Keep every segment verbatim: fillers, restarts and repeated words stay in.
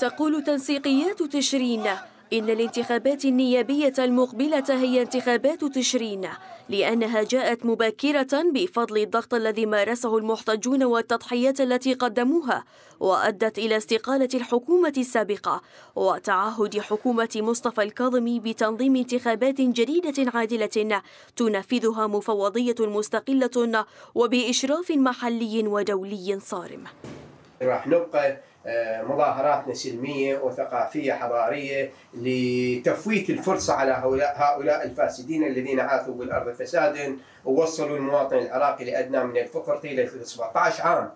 تقول تنسيقيات تشرين إن الانتخابات النيابية المقبلة هي انتخابات تشرين، لأنها جاءت مبكرة بفضل الضغط الذي مارسه المحتجون والتضحيات التي قدموها، وأدت إلى استقالة الحكومة السابقة وتعهد حكومة مصطفى الكاظمي بتنظيم انتخابات جديدة عادلة تنفذها مفوضية مستقلة وبإشراف محلي ودولي صارم. راح نبقى مظاهراتنا سلمية وثقافية حضارية لتفويت الفرصة على هؤلاء الفاسدين الذين عاثوا بالأرض فسادا ووصلوا المواطن العراقي لأدنى من الفقر طيلة سبعة عشر عام.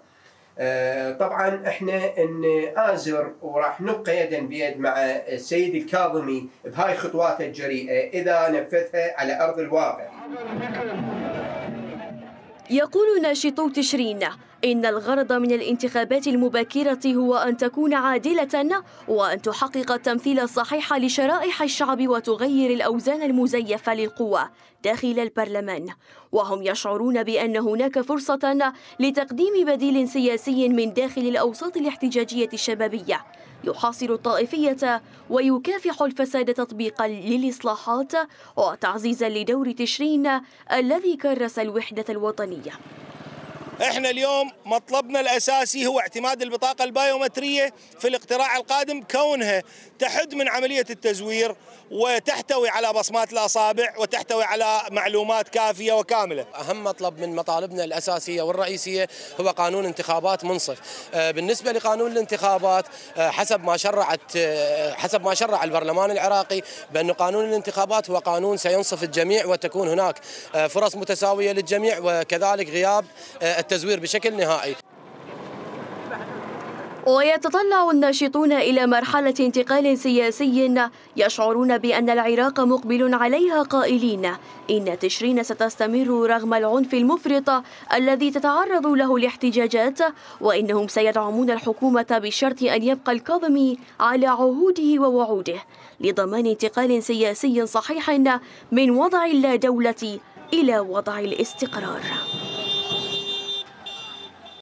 طبعا احنا نآزر وراح نبقى يدا بيد مع السيد الكاظمي بهاي خطواته الجريئة إذا نفذها على أرض الواقع. يقول ناشطو تشرين إن الغرض من الانتخابات المبكرة هو أن تكون عادلة وأن تحقق التمثيل الصحيح لشرائح الشعب وتغير الأوزان المزيفة للقوى داخل البرلمان، وهم يشعرون بأن هناك فرصة لتقديم بديل سياسي من داخل الأوساط الاحتجاجية الشبابية يحاصر الطائفية ويكافح الفساد تطبيقا للإصلاحات وتعزيزا لدور تشرين الذي كرس الوحدة الوطنية. احنا اليوم مطلبنا الاساسي هو اعتماد البطاقه البايومتريه في الاقتراع القادم، كونها تحد من عمليه التزوير وتحتوي على بصمات الاصابع وتحتوي على معلومات كافيه وكامله. اهم مطلب من مطالبنا الاساسيه والرئيسيه هو قانون انتخابات منصف. بالنسبه لقانون الانتخابات حسب ما شرعت حسب ما شرع البرلمان العراقي بأن قانون الانتخابات هو قانون سينصف الجميع وتكون هناك فرص متساويه للجميع وكذلك غياب التزوير بشكل نهائي. ويتطلع الناشطون إلى مرحلة انتقال سياسي يشعرون بأن العراق مقبل عليها، قائلين إن تشرين ستستمر رغم العنف المفرط الذي تتعرض له الاحتجاجات، وإنهم سيدعمون الحكومة بشرط أن يبقى الكاظمي على عهوده ووعوده لضمان انتقال سياسي صحيح من وضع اللا دولة إلى وضع الاستقرار.